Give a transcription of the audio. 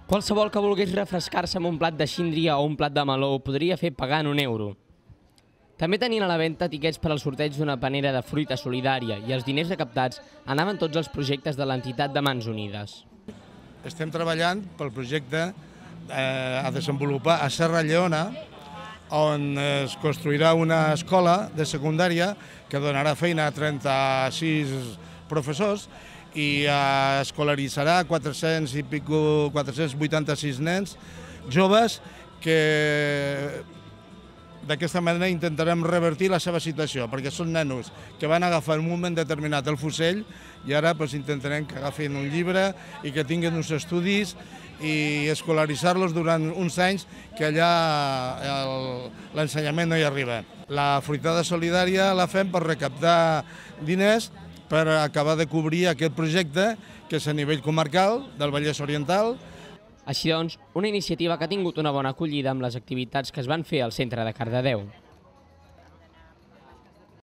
Qualsevol que volgués refrescar-se amb un plat de síndria o un plat de meló ho podria fer pagant €1. També tenien a la venda tiquets per al sorteig d'una panera de fruita solidària i els diners recaptats anaven tots als projectes de l'entitat de Mans Unides. Estem treballant pel projecte a desenvolupar a Serra Lleona, on es construirà una escola de secundària que donarà feina a 36 professors i escolaritzarà 486 nens joves que d'aquesta manera intentarem revertir la seva situació, perquè són nenos que van agafar en un moment determinat el fusell i ara intentarem que agafin un llibre i que tinguin uns estudis i escolaritzar-los durant uns anys que allà l'ensenyament no hi arriba. La fruitada solidària la fem per recaptar diners per acabar de cobrir aquest projecte que és a nivell comarcal del Vallès Oriental. Així doncs, una iniciativa que ha tingut una bona acollida amb les activitats que es van fer al centre de Cardedeu.